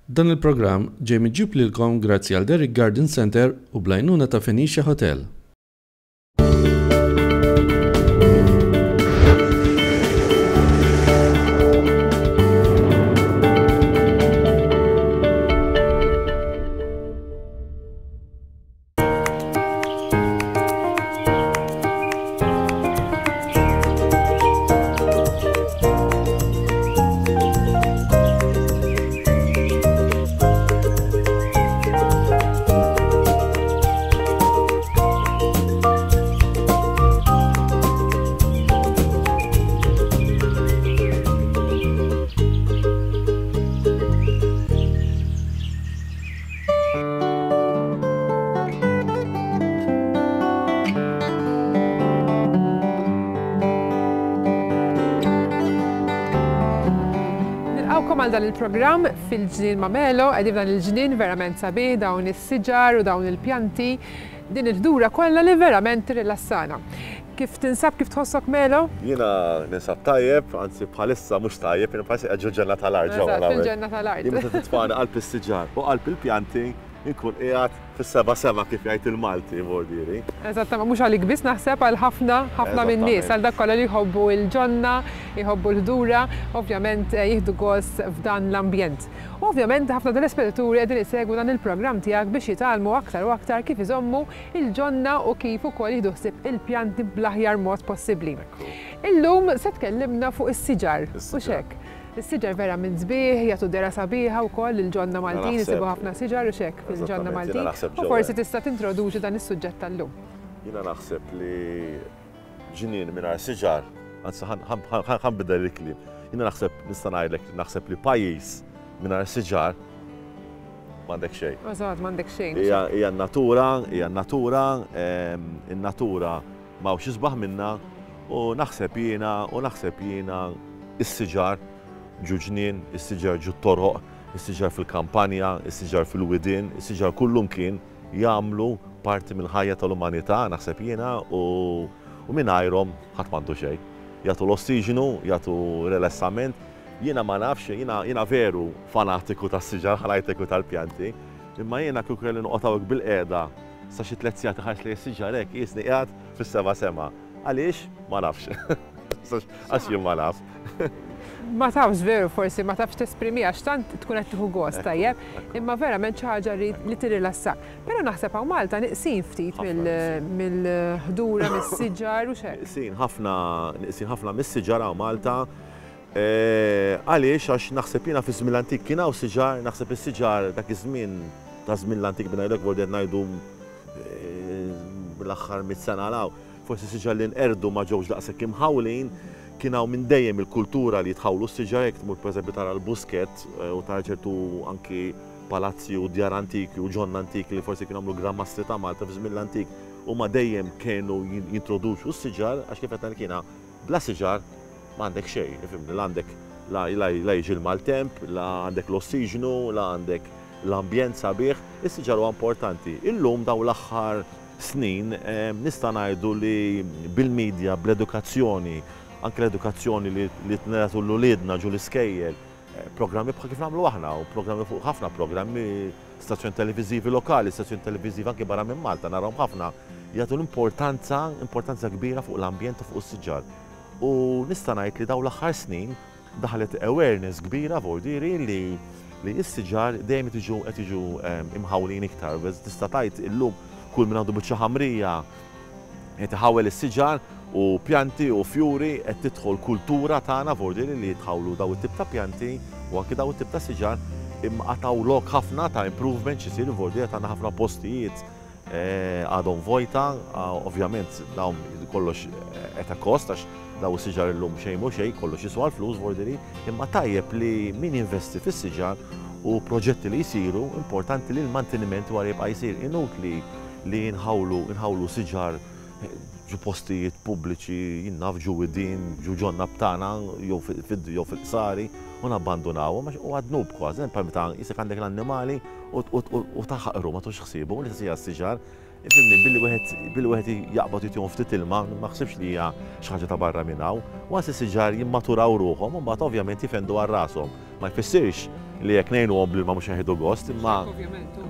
Dan il-programm ġej miġjub lilkom grazzi għal Derrick Garden Centre u bl-għajnuna ta' Phoenicia Hotel. Nilqawkom għal dan il-programm fil-ġnien Mamelo, qegħdin f'dan il-ġnien verament sabiħ, dawn is-siġar u dawn il-pjanti, din il-ħdura kollha li verament tirrilassana. Kif tinsab, kif tħossok Melo? Jiena ninsab tajjeb, anzi bħalissa mhux tajjeb, jiena bħalissa qiegħed ġol-ġenna tal-art ġewwa Eżatt, fil-ġenna tal-art. Jien meta titfagħni qalb is-siġar u qalb il-pjanti, inkun qiegħed fis-seba' sema kif jgħid il-Malti, Bordieri. Eżatt, ma mhux għalik biss naħseb għal ħafna, ħafna min-nies, għal dak kollha li jħobbu l-ġonna, jħobbu l-ħdura, ovvjament jieħdu gost f'dan l-ambjent. U ovvjament ħafna telespettaturi qegħdin isegwu dan il-programm tiegħek biex jitgħallmu aktar u aktar kif iżommu il-ġonna u kif ukoll jieħdu ħsieb il-pjanti bl-aħjar mod possibbli. Illum se tkellimna fuq is-siġar, hux hekk? Is-siġar vera minn sbieħ, jagħtu dehra sabiħa wkoll lill-ġonna Maltin, insibu ħafna siġar hux hekk fil-ġonna Maltin. U forsi tista' tintroduċi dan is-suġġett tal-lum. Jiena naħseb li ġnien mingħajr siġar, anzi ħa nbiddel il-kliem. Jiena naħseb nista' ngħidlek naħseb li pajjiż mingħajr siġar m'għandek xejn. Eżatt, m'għandek xejn. Hija n-natura, hija n-natura, in-natura m'hawnx isbaħ minnha u naħseb jiena u naħseb jiena is-siġar ġu ġnien, is-siġar ġu toroq, is-siġar fil-kampanja, is-siġar fil-widien, is-siġar kullumkien jagħmlu parti mill-ħajja tal-umanità, naħseb jiena, u mingħajrhom ħadd m'għandu xejn. Jagħtu l-ossiġnu, jagħtu rilassament. Jiena ma nafx, jiena jiena veru fanatiku tas-siġar, ħa ngħidlek u tal-pjanti, imma jiena kieku kelli noqgħod hawnhekk bilqiegħda sa xi tlett sigħat inħares lejn is-siġar hekk qiesni qiegħed fis-seba' sema. Għaliex? Ma nafx. Għax jien ma naf. Ma tafx veru forsi ma tafx tesprimiha għax tant tkun qed tieħu gost tajjeb, imma verament xi ħaġa li tirrilassak. Però naħseb hawn Malta neqsin ftit mill-ħdura, mis-siġar u x'hekk. Neqsin ħafna, neqsin ħafna mis-siġar hawn Malta. Għaliex? Għax naħseb jiena fi żmien l-antik kien hawn siġar, naħseb is-siġar dak iż-żmien, ta' żmien l-antik minn ngħidlek vordi qed ngħidu l-aħħar mitt sena 'l hawn, forsi siġar li nqerdu ma ġewx daqshekk imħawlin, kien hawn minn dejjem il-kultura li jitħawlu s-siġar, jekk tmur pereżempju tara l-Buskett u tara ċertu anki palazzi u djar antiki u ġonna antiki li forsi kienu għamlu Gran Mastri ta' Malta fi żmien l-antik, huma dejjem kienu jintroduċu s-siġar għax kif qed ngħidlek jiena bla siġar M'għandek xejn, ifhimni, la għandek la la jiġi l-maltemp, la għandek l-ossiġnu, la għandek l-ambjent sabiħ. Is-siġar huwa importanti. Illum dawn l-aħħar snin nista' ngħidu li bil-media, bl-edukazzjoni, anke l-edukazzjoni li li nagħtu 'l uliedna ġo l-iskejjel, programmi bħal kif nagħmlu aħna u programmi fuq ħafna programmi, stazzjoni televiżivi lokali, stazzjoni televiżivi anke barra minn Malta narahom ħafna jagħtu l-importanza, importanza kbira fuq l-ambjent u fuq is-siġar. U nista' ngħid li dawn l-aħħar snin daħlet awareness kbira vordieri li li s-siġar dejjem qed jiġu qed jiġu imħawlin iktar. Tista' tgħid illum kull min għandu biċċa ħamrija qed iħawwel is-siġar u pjanti u fjuri qed tidħol kultura tagħna vordieri li jitħawlu dawn it-tip ta' pjanti u anki dawn it-tip ta' siġar imma għad hawn lok ħafna ta' improvement x'isir vordieri għad għandna ħafna postijiet Għadhom vojta, ovvjament dawn kollox at a cost għax daw is-siġar illum xejn mhu xejn, kollox jiswa l-flus vordiri, imma tajjeb li min jinvesti fis-siġar u proġetti li jsiru, importanti li l-manteniment wara jibqa' jsir. Inutli li nħawlu nħawlu siġar ġo postijiet pubbliċi, jien naf ġo widien, ġo ġonna b'tagħna jew jew fil-qsari u nabbandunawhom għax huwa dnub kważi, bħal meta qisek għandek l-annimali u taħqru ma tux ħsiebu, l-istess hija s-siġar. Ifhimni, billi wieħed billi wieħed jaqbad u jtihom ftit ilma, ma naħsibx li hija xi ħaġa ta' barra minn hawn. Once is-siġar jimmaturaw ruħhom, imbagħad ovvjament jifendu għal rashom. Ma jfissirx. li jekk ngħinuhom bl-ilma mhux jieħdu gost, imma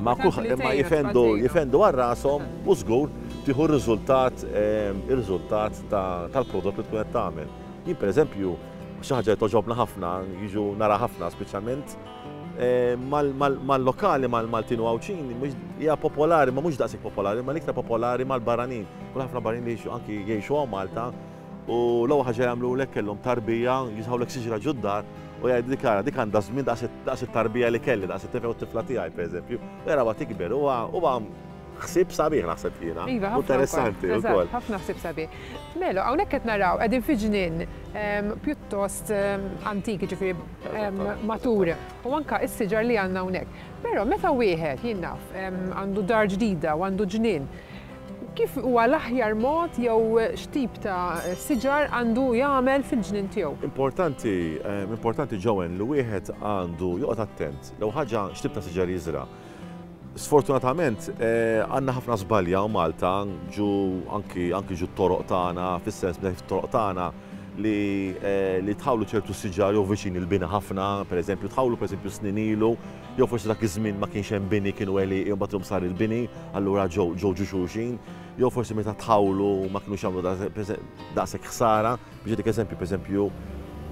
ma imma jifendu jifendu għal rashom u żgur tieħu r-riżultat ir-riżultat tal-prodott li tkun qed tagħmel. Jien pereżempju xi ħaġa li togħġobna ħafna, jiġu nara ħafna speċjalment mal-lokali mal-Maltin u Għawdxin hija popolari, ma mhux daqshekk popolari, ma l-iktar popolari mal-barranin. Kull ħafna barranin li anki jgħixu hawn Malta u l-ewwel ħaġa jagħmlulek kellhom tarbija, jiżħawlek siġra ġod-dar u jgħidu dik ara dik għandha żmien daqs it-tarbija li kelli, daqs it-tifel u t-tifla tiegħi pereżempju. U jarawha tikber huwa huwa ħsieb sabiħ naħseb jiena. Iva, ħafna Interessanti wkoll. Ħafna ħsieb sabiħ. Melo, hawnhekk qed naraw qegħdin fi ġnien pjuttost antik, jiġifieri matur, u anke s-siġar li għandna hawnhekk. Però meta wieħed, jien naf, għandu dar ġdida u għandu ġnien, kif huwa l-aħjar mod jew x'tip ta' siġar għandu jagħmel fil-ġnien tiegħu? Importanti, importanti Joanne li wieħed għandu joqgħod attent l-ewwel ħaġa x'tip ta' siġar jiżra'. Sfortunatament għandna ħafna żbalji hawn Malta ġu anki anki ġu t-toroq tagħna fis-sens meta fit-toroq tagħna li li tħawlu ċertu siġar jew viċin il-bini ħafna, pereżempju tħawlu pereżempju snin ilu, jew forsi dak iż-żmien ma kienx hemm bini kienu għelieqi u mbagħad illum sar il-bini, allura ġew ġew ġu xulxin, jew forsi meta tħawlu ma kinux jagħmlu daqshekk ħsara. Biex nagħtik eżempju, pereżempju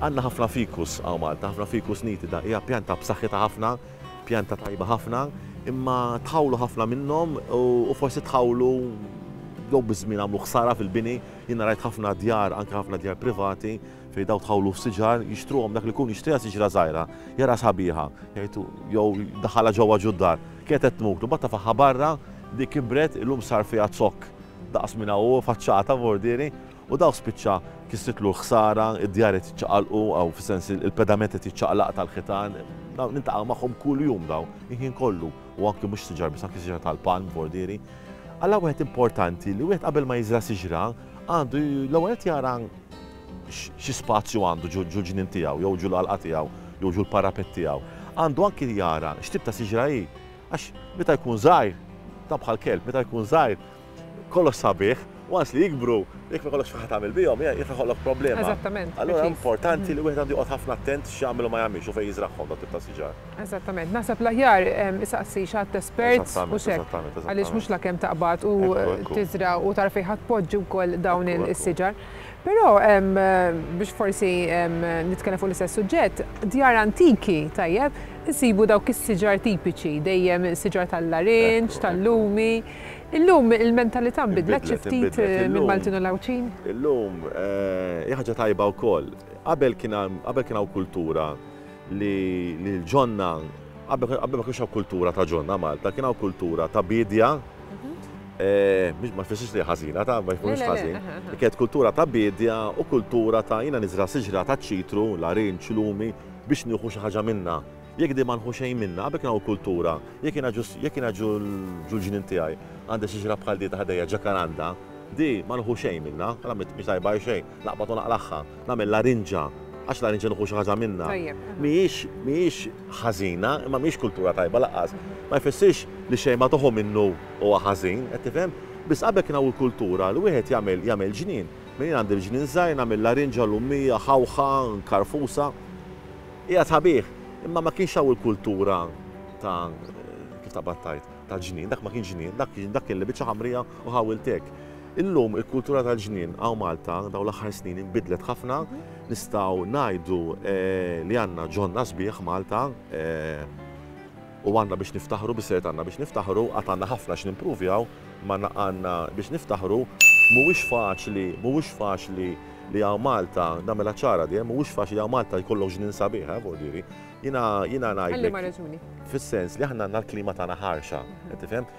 għandna ħafna fikus hawn Malta, ħafna fikus nitida, hija pjanta b'saħħitha ħafna, Pjanta tajba ħafna, imma tħawlu ħafna minnhom u forsi tħawlu jew biż-żmien għamlu ħsara fil-bini. Jiena rajt ħafna djar, anke ħafna djar privati, fejn daw tħawlu f'siġar, jixtruhom dak li jkun jixtriha siġra żgħira, jara sabiħa, jgħid jew daħalha ġewwa ġud-dar. Kienet qed tmut, u mbagħad tafagħha barra, dik kibret, illum sar fiha zokk daqs minn hawn u faċċata vordieri. U dawk spiċċa kisritlu l-ħsara, id-djar qed jiċċaqalqu, aw fis-sens il-pedament qed jiċċaqlaq tal-ħitan. Dawn niltaqgħu magħhom kuljum dawn, il-ħin kollu. U anki mhux siġar biss, anki siġar tal-palm, vordieri. Alla wieħed importanti li wieħed qabel ma jiżra' siġra għandu l-ewwel qed jara xi spazju għandu ġol-ġnien tiegħu jew ġol-għalqa tiegħu jew ġol-parapett tiegħu. Għandu anki jara x'tip ta' siġra hi. Għax meta jkun żgħir, dan bħal kelb, meta jkun żgħir kollox sabiħ, once li jikbru, jekk ma jkollokx xi tagħmel bihom, jaf ikollok problema. Eżattament. Allura importanti li wieħed għandu joqgħod ħafna attent x'jagħmel u ma jagħmilx u fejn jiżragħhom dawn tip ta' siġar. Eżattament. Naħseb l-aħjar isaqsi xi ħadd espert u x'hekk. Għaliex mhux lakemm taqbad u tiżra' u tara fejn ħa tpoġġi wkoll dawn is-siġar. Però biex forsi nitkellem fuq l-istess suġġett, djar antiki, tajjeb, insibu dawk is-siġar tipiċi, dejjem siġar tal-larinġ, tal-lumi. Illum il-mentalità nbidlet xi ftit mill-Maltin u l-Għawdxin? Illum hija ħaġa tajba wkoll. Qabel kien qabel kien hawn kultura li l-ġonna qabel ma kienx hawn kultura ta' ġonna Malta, kien hawn kultura ta' biedja. Ma jfissirx li ħażina ta' ma jkunx ħażin. Kienet kultura ta' biedja u kultura ta' jiena niżra' siġra ta' ċitru, larinġ, lumi biex nieħu xi ħaġa minnha. Jekk di ma nħu xejn minnha, qabel kien hawn kultura, jekk jiena ġu jekk jiena ġu ġul-ġnien tiegħi għandi siġra bħal di ta' ħdejja ġakaranda, di ma nħu xejn minnha, għala mhix tajba għal xejn, naqbad u naqlagħha, nagħmel larinġa, għax larinġa nieħu xi ħaġa minnha. Mhijiex mhijiex ħażina, imma mhijiex kultura tajba lanqas. Ma jfissirx li xejn ma toħu minnu huwa ħażin, qed tifhem? Biss qabel kien hawn il-kultura li wieħed jagħmel jagħmel ġnien. Minn jien għandi l-ġnien żgħir nagħmel larinġa, lummija, ħawħa, karfusa. Qiegħed sabiħ, imma ma kienx hawn il-kultura ta' kif taqbad tgħid, ta' ġnien, dak ma kienx ġnien, dak kien dak kien li biċċa ħamrija u ħawilt hekk. Illum il-kultura tal-ġnien hawn Malta dawn l-aħħar snin inbidlet ħafna, nistgħu ngħidu li għandna ġonna sbieħ Malta u għandna biex niftaħru, bis-serjetà għandna biex niftaħru, għad għandna ħafna x'nimpruvjaw, imma għandna biex niftaħru, mhuwiex faċli, mhuwiex faċli li hawn Malta, nagħmilha ċara di, mhuwiex faċli hawn Malta jkollok ġnien sabiħ, eh, vuol dire. Jiena jiena ngħidlek. Għal liema raġuni? Fis-sens li aħna għandna l-klima tagħna ħarxa, qed tifhem?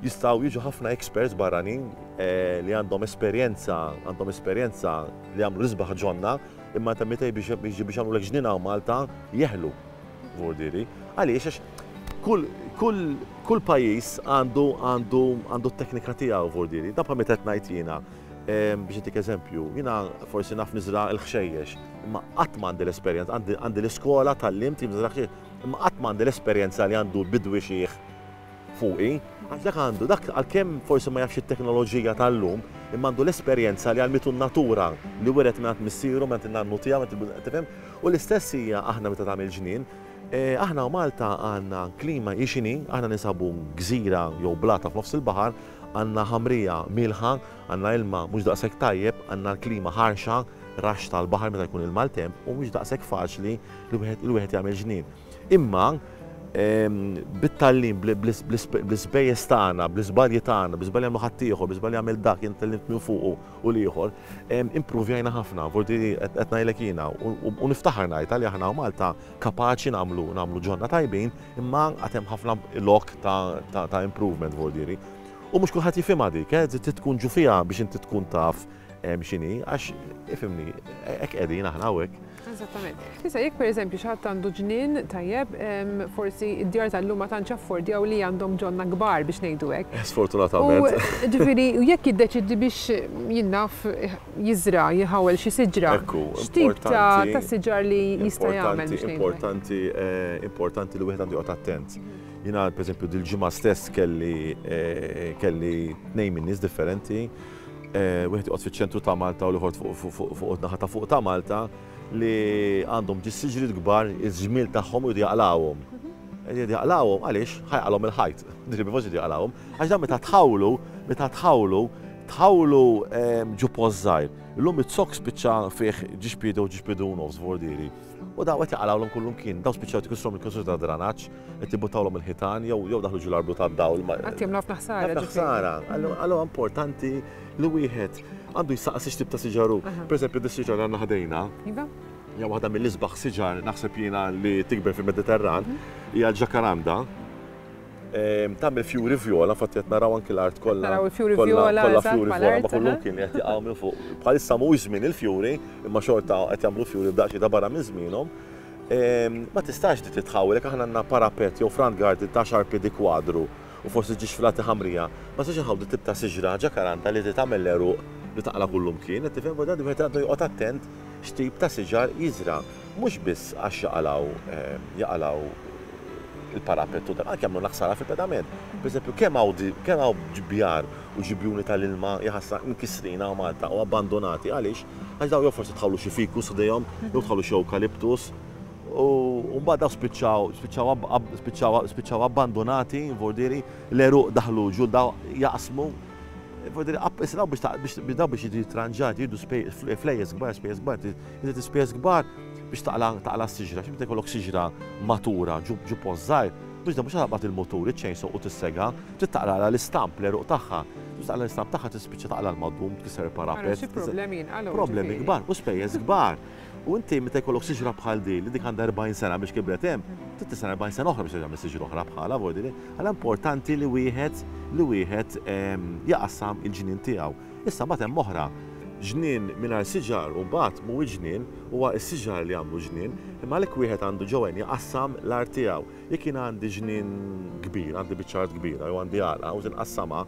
Jistgħu jiġu ħafna experts barranin eh, li għandhom esperjenza, għandhom esperjenza li jagħmlu l-isbaħ ġonna, imma ta' meta biex biex jagħmlulek ġnien hawn Malta jeħlu, vuol dire. Għaliex għax kull kull kull pajjiż għandu għandu għandu t-teknika tiegħu vuol dire. Dan bħal meta qed ngħid jiena Biex ntik eżempju, jiena forsi naf niżra' l-ħxejjex, imma qatt ma għandi l-esperjenza, għandi l-iskola tgħallimt kif niżra' ħxejjex, imma qatt ma għandi l-esperjenza li għandu l-bidwi xiħ fuqi, għax dak għandu, dak għalkemm forsi ma jafx it-teknoloġija tal-lum, imma għandu l-esperjenza li għallmitu n-natura, li wiret mingħand missieru, mingħand in-nannu tiegħu, tifhem? U l-istess hija aħna meta tagħmel ġnien, Aħna u Malta għandna klima hi x'inhi, aħna ninsabu gżira jew blata f'nofs il-baħar, għandna ħamrija mielħa, għandna ilma mhux daqshekk tajjeb, għandna l-klima ħarxa, raxx tal-baħar meta jkun il-maltemp u mhux daqshekk faċli li wieħed li wieħed jagħmel ġnien. Imma bit-tgħallim, bl-ispejjeż tagħna, bl-iżbalji tagħna, bl-iżbalji li għamlu ħaddieħor, bl-iżbalji li għamel dak, jien tgħallimt minn fuqu u l-ieħor, impruvjajna ħafna, forsi qed ngħidlek jiena, u niftaħar ngħidha li aħna Malta kapaċi nagħmlu nagħmlu ġonna tajbin, imma għad hemm ħafna lok ta' improvement vuol dire. U mhux kulħadd jifhimha dik, eh, trid tkun ġu fiha biex inti tkun taf x'inhi, għax ifhimni, hekk qegħdin aħna hawnhekk. Eżattament. Issa jekk pereżempju xi ħadd għandu ġnien tajjeb, forsi d-djar tal-lum ma tantx affordjaw li għandhom ġonna kbar biex ngħidu hekk. Sfortunatament. U ġifieri jekk jiddeċiedi biex jien naf jiżra', jħawwel xi siġra. Ekku, X'tip ta' siġar li jista' jagħmel biex ngħidu hekk? Importanti, importanti li wieħed għandu joqgħod attent. Jiena pereżempju dil-ġimgħa stess kelli kelli tnejn min-nies differenti wieħed joqgħod fiċ-ċentru ta' Malta u l-ieħor fuq naħa ta' fuq ta' Malta li għandhom ġis siġriet kbar iż-żmiel tagħhom u jridu jaqlgħuhom. Jridu jaqlgħuhom għaliex ħa jaqalhom il-ħajt. Ġifieri forsi jridu jaqlgħuhom. Għax dan meta tħawlu, meta tħawlu, tħawlu ġu post żgħir. Illum iz-zokk spiċċa fih ġiex piedi u ġiex piedi u nofs vordieri. U daw qed jaqalgħulhom kullimkien. Daw spiċċaw qed ikissrhom il-konsum ta' dranaġġ, qed jibbuttawlhom il-ħitan jew jew daħlu ġol-arblu tad-dawl. Qed jagħmlu ħafna ħsara. Ħafna ħsara. Allura importanti li wieħed għandu jsaqsi x'tip ta' siġar hu. Pereżempju dis-siġar li għandna ħdejna. Iva. Hija waħda mill-isbaħ siġar naħseb jiena li tikber fil-Mediterran, hija l-ġakaranda. Tagħmel fjuri vjola, infatti qed naraw anki l-art kollha. Naraw il-fjuri vjola, kollha fjuri vjola, ma kullum kien qed jaqgħu minn fuq. Bħalissa mhuwiex żmien il-fjuri, imma xorta qed jagħmlu fjuri b'daqsxejn ta' barra minn żmienhom. Ma tistax di titħawwel jekk aħna għandna parapet jew front garden ta' għaxar piedi kwadru u forsi ġiex filati ħamrija, ma tistax inħawdu tip ta' siġra ġakaranta li tagħmel l-għeruq li taqla' kullumkien, qed tifhem? Wieħed għandu joqgħod attent x'tip ta' siġar jiżra'. Mhux biss għax jaqalgħu jaqalgħu il-parapet u dan, anke jagħmlulna ħsara fil-pedament. Pereżempju, kemm hawn kemm hawn bjar u ġibjuni tal-ilma jaħasra mkissrin hawn Malta u abbandunati. Għaliex? Għax dawn jew forsi tħawlu xi ficus ħdejhom, jew tħawlu xi ewkaliptus, u mbagħad dawn spiċċaw spiċċaw spiċċaw spiċċaw abbandunati, vordieri, l-għeruq daħlu ġu daw jaqsmu. Vordieri, issa dawn biex dawn biex jiġu jitranġati jridu flejjes kbar, spejjeż kbar, Inti tispejjeż kbar biex taqla' taqla' s-siġra, għax meta jkollok siġra matura ġu ġu post żgħir, mhux mhux taqbad il-mutur, iċ-chainsaw u tissegha, trid taqlagħlha l-istamp, l-għeruq tagħha. Biex taqla' l-istamp tagħha tispiċċa taqla' l-madum, tkisser il-parapet. Ara xi problemi jinqalgħu. Problemi kbar u spejjeż kbar. U inti meta jkollok siġra bħal din li dik għandha 40 sena biex kibret hemm, trid tistenna 40 sena oħra biex terġa' tagħmel siġra oħra bħalha, vuol dire. Allura importanti li wieħed li wieħed jaqassam il-ġnien tiegħu. Issa mbagħad hemm oħra. Ġnien mingħajr siġar u mbagħad mhuwiex ġnien, huwa s-siġar li jagħmlu ġnien, imma għalhekk wieħed għandu ġo hemm jqassam l-art tiegħu. Jekk jiena għandi ġnien kbir, għandi biċċa art kbira jew għandi għalqa u tinqassamha,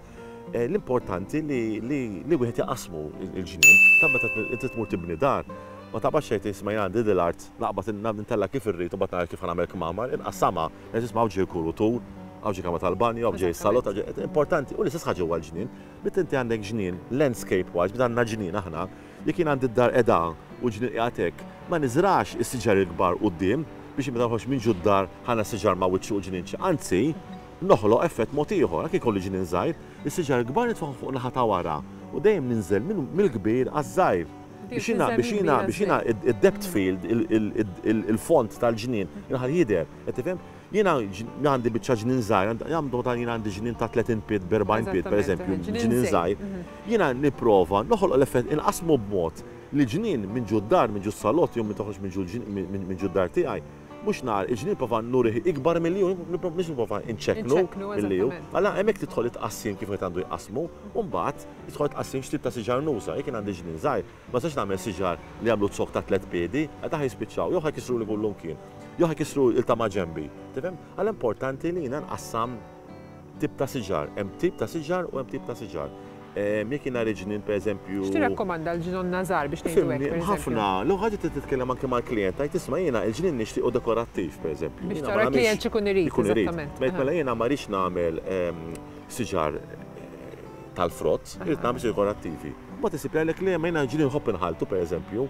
l-importanti li li wieħed jaqasmu l-ġnien. Ta' meta inti tmur tibni dar, ma taqbadx tgħid isma' jien għandi dil-art, naqbad ntella' kif irrid u mbagħad nara kif ħa nagħmel kmamar, inqassamha, ngħid isma' hawn ġej kurutur, hawn ġej kamra tal-banju, hawn ġej is-salott, hawn ġej. Importanti, u l-istess ħaġa huwa l-ġnien. Meta inti għandek ġnien, landscape wise, meta għandna ġnien aħna, jekk jien għandi d-dar qiegħda u l-ġnien qiegħed hekk, ma niżrax is-siġar il-kbar quddiem biex meta noħroġ minn ġud-dar ħa nara siġar ma' wiċċi u l-ġnien ċ. Anzi, noħloq effett mod ieħor. Anke jkolli ġnien żgħir, is-siġar il-kbar nitfagħhom fuq naħa ta' wara u dejjem ninżel mill-kbir għaż-żgħir. Biex jiena, biex jiena, biex jiena id-depth field, il-fond tal-ġnien, inħalli jidher. Qed tifhem? Jiena għandi biċċa ġnien żgħir, għandu dan jiena għandi ġnien ta' 30 pied b'40 pied pereżempju, ġnien żgħir. Jiena nipprova noħoloq l-effett inqassmu b'mod li ġnien minn ġu d-dar, minn ġu s-salott jew minn toħroġ minn ġu d-dar tiegħi, mhux nar il-ġnien nipprova nurih ikbar milli hu, mhux nipprova nċekknu milli hu. Allura hemmhekk tidħol it-tqassim kif wieħed għandu jqassmu u mbagħad tidħol it-tqassim x'tip ta' siġar nuża. Jekk jien għandi ġnien żgħir, ma nistax nagħmel siġar li jagħmlu zokk ta' tlett piedi, għax dawn ħa jispiċċaw jew ħa jkissruli kullumkien. Jew ħa jkissru l ta' maġenbi. Tifhem? Għala importanti li jiena nqassam tip ta' siġar. Hemm tip ta' siġar u hemm tip ta' siġar. Jekk jiena rrid ġnien pereżempju. X'tirrakkomanda l-ġnonna żgħar biex ngħidu hekk pereżempju? Ħafna. L-ewwel ħaġa trid titkellem anke mal-klijent tgħid isma' jiena l-ġnien nixtiequ dekorattiv pereżempju. Biex tara l-klijent x'ikun irid. Eżattament. Mela jiena ma rridx nagħmel siġar tal-frott, irrid nagħmel siġar dekorattivi. Mbagħad isib jgħidlek le ma jiena ġnien nħobb inħalltu pereżempju.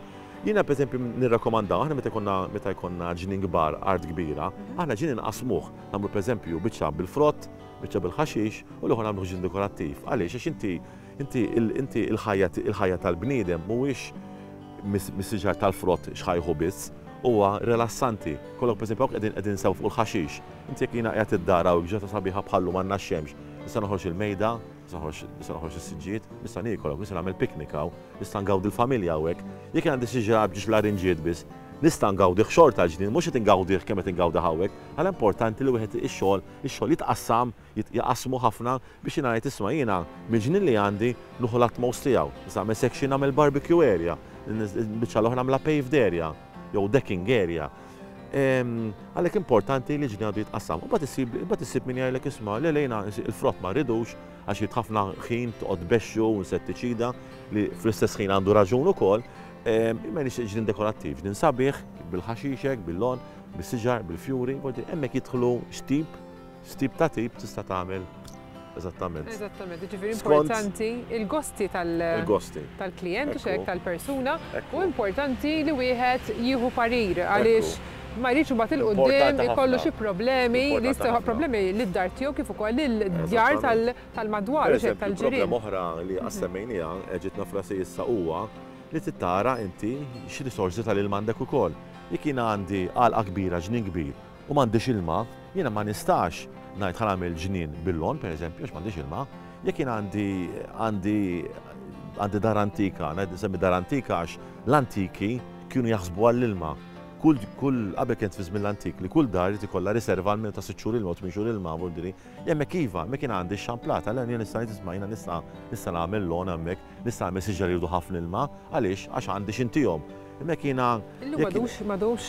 Jiena pereżempju nirrakkomandaw, aħna meta jkollna meta jkollna ġnien kbar, art kbira, aħna ġnien inqassmuh. Nagħmlu pereżempju biċċa bil-frott, biċċa bil-ħaxix u l-ieħor nagħmluh ġnien dekorattiv. Għaliex? Għax inti inti inti il-ħajja il-ħajja tal-bniedem mhuwiex mis-siġar tal-frott x'ħajħu biss, huwa rilassanti. Kollok pereżempju hawn qegħdin qegħdin sew fuq il-ħaxix. Inti jekk jiena qiegħed id-dar hawn ġrata sabiħa bħal-lum għandna x-xemx, nista' noħroġ il-mejda, nista' noħroġ nista' noħroġ is-siġġijiet, nista' niekol hawn, nista' nagħmel picnic hawn, nista' ngawdi l-familja hawnhekk. Jekk jien għandi siġra b'ġiex larinġiet biss, nista' ngawdih xorta l-ġnien, mhux qed ingawdih kemm qed ingawdih hawnhekk. Għala importanti li wieħed ix-xogħol ix-xogħol jitqassam, jaqassmu ħafna biex jiena ngħid isma' jiena mill-ġnien li għandi nieħu l-utmost tiegħu. Nista' nagħmel section nagħmel barbecue area, il-biċċa l-oħra nagħmilha paved area jew decking area. Għalhekk importanti li ġnien għandu jitqassam. U mbagħad issib min jgħidlek isma' le le jiena il-frott ma rridux għax jrid ħafna ħin toqgħod tbexxu insettiċida li fl-istess ħin għandu raġun ukoll. Imma nixtieq ġnien dekorattiv, ġnien sabiħ, bil-ħaxixek, bil-lon, bis-siġar, bil-fjuri, hemmhekk jidħlu x'tip X'tip ta' tip tista' tagħmel eżattament. Eżattament, jiġifieri importanti il-gosti tal-klijent u x'hekk tal-persuna u importanti li wieħed jieħu parir għaliex ma jridx imbagħad 'il quddiem ikollu xi problemi li jista' joħloq problemi lid-dar tiegħu kif ukoll lid-djar tal-madwar u x'hekk tal-ġirien. Problema oħra li qatt semmejniha, ġietna f'rasi issa huwa li trid tara inti x'risorsi tal-ilma għandek ukoll. Jekk jiena għandi għalqa kbira, ġnien kbir, u m'għandix ilma, jiena ma nistax ngħid ħa nagħmel ġnien bil-lon, pereżempju, għax m'għandix ilma. Jekk jiena għandi għandi għandi dar antika, ngħid nsemmi dar antika għax l-antiki kienu jaħsbu għall-ilma. Kull kull qabel kienet fi żmien l-antik li kull dar irid ikollha riserva almenu ta' sitt xhur ilma u tmien xhur ilma, vuol dire. Hemmhekk iva, hemmhekk jiena għandi x-xamplata, allura jien nista' ngħid isma' jiena nista' nista' nagħmel lon hemmhekk. Nista' nagħmel siġar li jridu ħafna ilma, għaliex? Għax għandi x'intihom. Imma jekk jiena. Illum m'għadux, m'għadux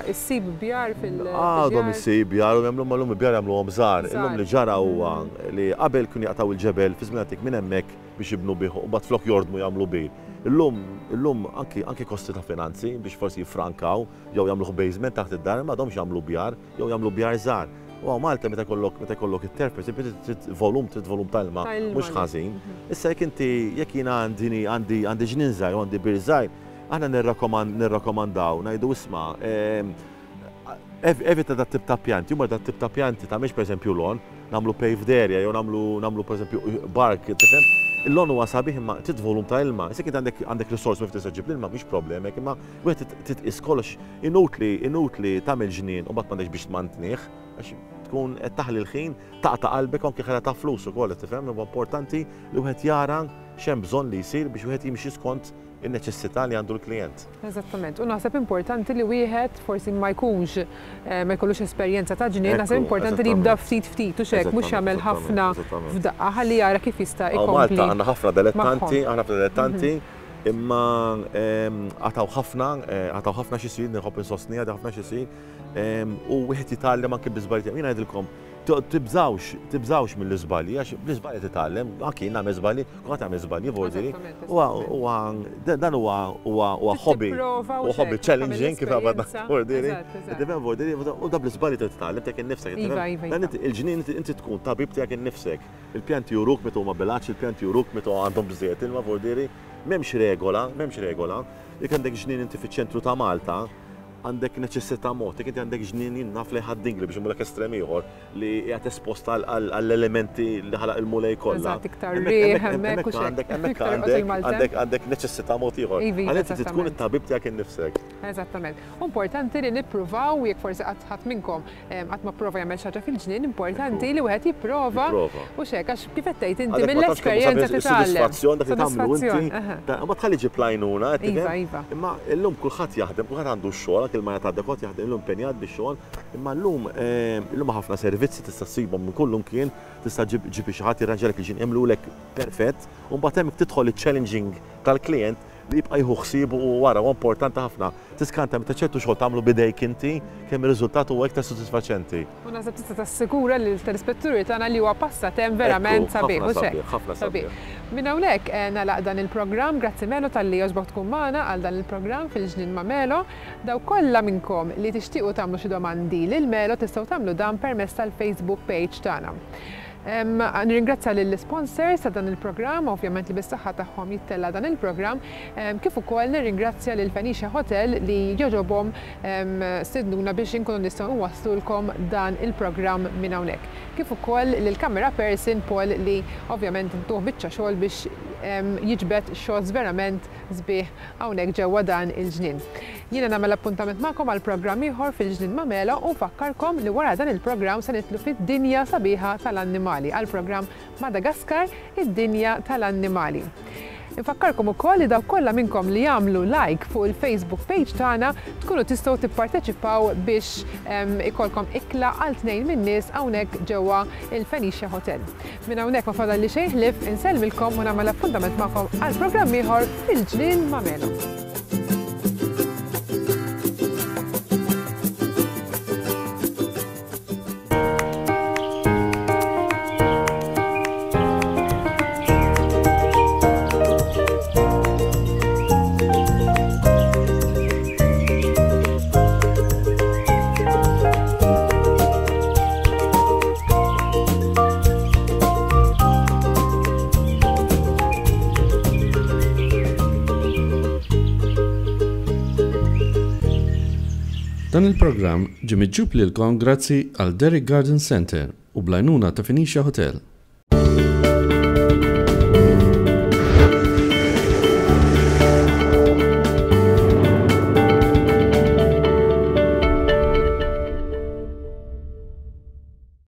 issib bjar fil. Għadhom issib bjar u jagħmluhom illum il-bjar jagħmluhom żgħar. Illum li ġara huwa li qabel kienu jaqtgħu il-ġebel fi żmien antik minn hemmhekk biex jibnu bih u mbagħad flok jordmu jagħmlu bir. Illum, illum anki, anki kosti ta' finanzi biex forsi jiffrankaw jew jagħmluh basement taħt id-dar m'għadhomx jagħmlu bjar. Jew jagħmlu bjar żgħar. U hawn Malta meta jkollok meta jkollok it-terf, pereżempju, trid volum, trid volum ta' ilma mhux ħażin. Mhm. Issa jekk inti jekk jiena għandi għandi għandi ġnien żgħir u għandi bir żgħir, aħna nirrakkomandaw ngħidu isma' ehm, evita dat tip ta' pjanti, huma dat tip ta' pjanti ta' mhix pereżempju lon, nagħmlu paved area jew nagħmlu nagħmlu pereżempju bark, tifhem? Il-lon huwa sabiħ imma trid volum ta' ilma. Issa jekk għandek għandek risorsi minn tista' ġib l-ilma mhix problema, imma wieħed titqis kollox Inutli, inutli tagħmel ġnien u mbagħad m'għandekx biex tmantnih, għax tkun qed taħli l-ħin, taqta' qalbek u anke ħela ta' flus ukoll, qed tifhem? Huwa importanti li wieħed jara x'hemm bżonn li jsir biex wieħed jimxi skont in-neċessità li għandu l-klijent. Eżattament. U naħseb importanti li wieħed forsi ma jkunx, ma jkollux esperjenza ta' ġnien, naħseb importanti li jibda ftit ftit u x'hekk, mhux jagħmel ħafna f'daqqa ħalli jara kif jista' ikompli. Hawn Malta għandna ħafna dilettanti, għandna ħafna dilettanti. Imma għataw ħafna, għataw ħafna x'isir, nħobb insostni għad ħafna x'isir, u wieħed jitgħallem anke bl-iżbalji tiegħu. Jien ngħidilkom, tibżgħux, tibżgħux mill-iżbalji, għax bl-iżbalji titgħallem, anke jien nagħmel żbalji, kulħadd jagħmel żbalji vordiri. Huwa dan huwa huwa hobby, huwa hobby challenging kif għabadna vordiri. Tifhem vordiri, u da bl-iżbalji titgħallem tiegħek innifsek. Iva, iva, iva. Il-ġnien inti tkun tabib tiegħek innifsek. Il-pjanti juruk meta huma bil-għatx, il-pjanti juruk meta għandhom biżżejjed ilma vordiri. M'hemmx regola, m'hemmx regola. Jekk għandek ġnien inti fiċ-ċentru ta' Malta, għandek neċessità mod. Jekk inti għandek ġnien jien naf lejn Ħad-Dingli biex immurlek estrem ieħor li qiegħed espost għall-elementi li ħalaq il-Mulej kollha. Eżatt, iktar riħ hemmhekk u x'hekk. Hemmhekk għandek għandek neċessità mod ieħor. Għalhekk inti tkun it-tabib tiegħek innifsek. Eżattament. U importanti li nippruvaw jekk forsi qatt ħadd minnkom Qatt ma pprova jagħmel xi ħaġa fil-ġnien, importanti li wieħed jipprova u x'hekk għax kif qed tgħid inti mill-esperjenza titgħallem. Sodisfazzjon dak li tagħmlu inti. Ma tħalli ġib l-għajnuna, Iva, iva. Imma llum kulħadd jaħdem, kulħadd għandu x-xogħol, anke l-mara ta' kulħadd jaħdem illum impenjat bix-xogħol, imma llum illum ħafna servizzi tista' ssibhom minn kullimkien, tista' ġib xi ħadd jirranġalek il-ġnien, jagħmlulek perfett, u mbagħad hemmhekk tidħol iċ-challenging tal-klijent li jibqa' jieħu ħsiebu u wara huwa importanti ħafna. Tiskanta meta ċertu xogħol tagħmlu b'idejk inti kemm ir-riżultat huwa iktar sodisfaċenti. U naħseb tista' tassigura lill-telespetturi tagħna li huwa passatemp verament sabiħ, hux hekk? Ħafna sabiħ. Minn hawnhekk nagħlaq dan il-programm. Grazzi Melo talli għoġbok tkun magħna għal dan il-programm fil-Ġnien ma' Melo. Dawk kollha minnkom li tixtiequ tagħmlu xi domandi lil Melo tistgħu tagħmlu dan permezz tal-Facebook page tagħna. Nirringrazzja lill-isponsors ta' dan il-programm, ovvjament li bis-saħħa tagħhom jittella' dan il-programm, kif ukoll nirringrazzja lil Phoenicia Hotel li jogħġobhom stednuna biex inkunu nistgħu nwasslulkom dan il-programm minn hawnhekk. Kif ukoll lill-camera person Paul li ovvjament ntuh biċċa xogħol biex jiġbed shots verament sbieħ hawnhekk ġewwa dan il-ġnien. Jiena nagħmel appuntament magħkom għal programm ieħor fil-Ġnien ma' Melo u nfakkarkom li wara dan il-programm se nidħlu fid-dinja sabiħa tal-annimali għall-programm Madagascar, id-dinja tal-annimali. Infakkarkom ukoll li dawk kollha minnkom li jagħmlu like fuq il-Facebook page tagħna tkunu tistgħu tipparteċipaw biex ikollkom ikla għal tnejn min-nies hawnhekk ġewwa il-Phoenicia Hotel. Minn hawnhekk ma fadalli xejn ħlief insellmilkom u nagħmel appuntament magħkom għal programm ieħor fil-Ġnien ma' Melo. Dan il-programm ġie miġjub lilkom grazzi għal Derrick Garden Centre u bl-għajnuna ta' Phoenicia Hotel.